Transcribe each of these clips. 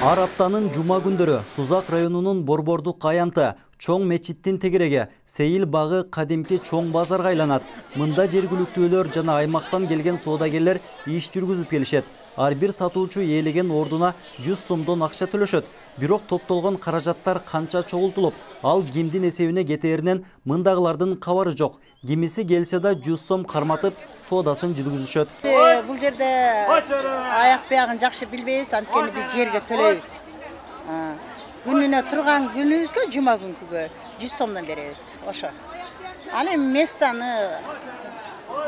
Ар аптанын жума күндөрү Сузак районунун Борбордук аянты чоң мечиттин тегереги Сейил багы кадимки чоң базарга айланат. Мында жергиликтүүлөр жана аймактан келген соодагерлер иш жүргүзүп келишет. Ар бир сатуучу ээлеген ордуна 100 сомдон акча төлөшөт. Бирок топтолгон каражаттар канча чогултулуп, ал кимдин эсебине кетээринен мындагылардын кабары жок. Кимиси келсе да 100 сом карматып, соодасын жүргүзүшөт. Бул жерде аяк биягын жакшы билбейбиз, анткени биз жерге төлөйбүз. Күнүнө турган күнүбүзгө, жума күнкүгө 100 сомдон беребиз. Ошо. Ал эми местаны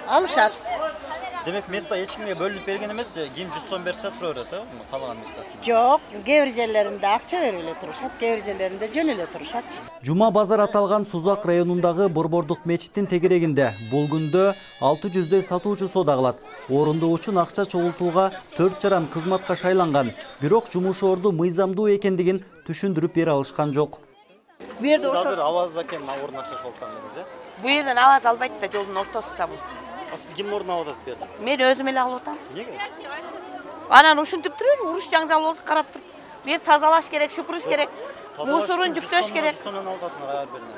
алышат. Демек, места эч кимге бөлүнүп берген эмес, ким 100 сом берсе тура берет, каалаган местасына. Жок, кээ бир жерлеринде акча берип эле турушат, кээ бир жерлеринде жөн эле турушат. Жума базар аталган Сузак районундагы Борбордук мечиттин тегерегинде бул күндө 600дөй сатуучу соода кылат. Орундоо үчүн акча чогултууга 4 жаран кызматка шайланган, бирок жумуш орду мыйзамдуу экендигин түшүндүрүп бере алышкан жок. Бу жерде азыр аваз экен ордун акча чогулткандыңыз, э? Бу жерден аваз албайт да, жолдун ортосунда бул. Сиз кимдин ордуна аваз бердиңиз? Мен өзүм эле алып атам. Эмнеге? Анан ушинтип туруп, уруш жаңжал болуп карап туруп. Бир тазалаш керек, шупуруш керек, мусорун жүктөш керек. 100 сомдон алгасыңар аяр берине.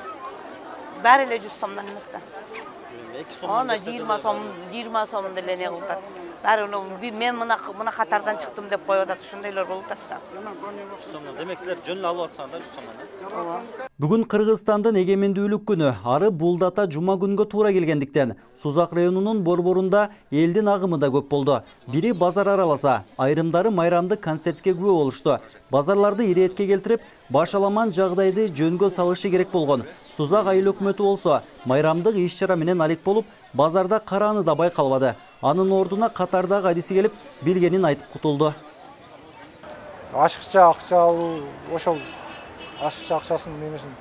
Баары эле 100 сомдон эмес да. 2 сом. Ана 20 сом деле не кылып атат. Баары мен мына катардан чыктым деп коюп атат, ошондойлор болуп атат да. 100 сомдон. Демек силер жөн эле алып атсаңар 100 сомдон. Ооба. Бүгүн Кыргызстандын эгемендүүлүк күнү, ары булдата жума күнгө туура келгендиктен Сузак районунун борборунда элдин агымы да көп болду. Бири базар араласа, айрымдары майрамдык концертке күбө болушту. Базарларды иретке келтирип, башаламан жагдайды жөнгө салышы керек болгон. Сузак айыл өкмөтү болсо, майрамдык иш-чара менен алек болуп, базарда карааны да байкалбады. Анын ордуна катардагы адиси келип, билгенин айтып кутулду. Ашыкча акча алуу, ошол ашыкча акчасын немесин.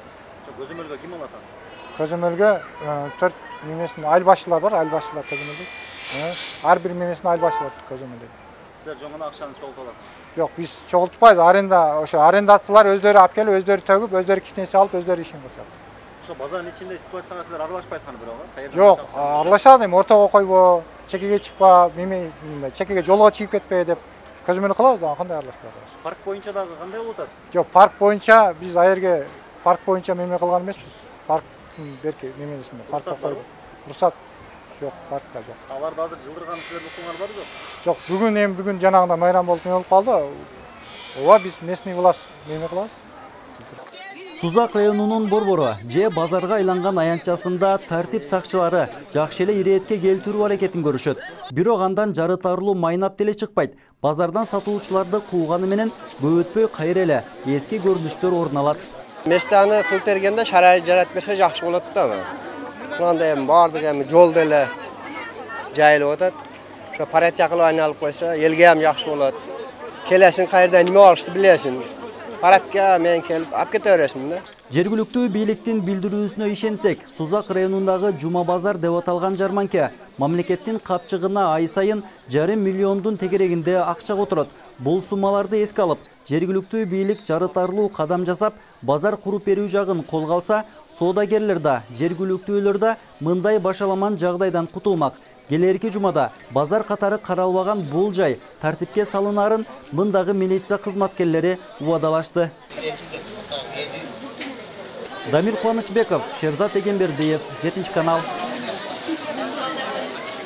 Көзөмөлгө ким алат? Көзөмөлгө 4 немесин айыл башчылар бар, айыл башчылар көзөмөлдөйт. Ар бир немесин айыл башчылар көзөмөлдөйт. Силер жоңгона акчаны чогултуп аласыз? Жок, биз чогултпайбыз. Ошо арендатчылар өздөрү алып келип, өздөрү төгүп, өздөрү китнесе алып, өздөрү ишин кылышат. Ошо базардын ичинде ситуацияга силер аралашпайсыңар бирок, Жок, аралашат, эми ортого койбо, чекеге чыкпа, чекеге жолго чыгып кетпе деп көзөмөл кылабыз да, кандай аралашпайбыз. Парк боюнча дагы кандай болуп атат? Жок, парк боюнча биз аерге парк боюнча меме кылган эмеспиз. Парктын берки немесинде паркка койду. Уруксат жок, паркка жок. Аларды азыр жылдырган силердин укуңар барбы жок? Жок, бүгүн жанагындай майрам болуп болуп калды. Ооба, биз местный власть меме кылабыз. Сузак районунун борбору же базарга айланган аянтчасында тартип сакчылары жакшы эле иретке келтирүү аракетин көрүшөт. Бирок андан жарытарлуу майнап деле чыкпайт. Базардан сатуучуларды кууганы менен көп өтпөй кайра эле эски көрүнүштөр орун алат. Местаны кылып бергенде шарайыт жаратып берсе жакшы болот да. Мындай эми баардыгы эми жол деле жайылып атат. Ошо паретка кылып айналып койсо, элге ham жакшы болот. Келесиң кайерда неме алышты билесиң. Паратка мен келип алып кете бересиң да. Жергиликтүү бийликтин билдирүүсүнө ишенсек, Сузак районундагы Жума базар деп аталган жарманке мамлекеттин капчыгына ай сайын 1,5 миллиондун тегерегинде акча которот. Бул суммаларды эске алып, жергиликтүү бийлик жарытарлуу кадам жасап, базар куруп берүү жагын колго алса, соодагерлер да, жергиликтүүлөр да мындай башаламан жагдайдан кутулмак. Келерки жумада базар катары каралбаган бул жай тартипке салынаарын мындагы милиция кызматкерлери убадалашты. Дамир Кубанычбеков, Шерзат Эгембердиев, 7 канал.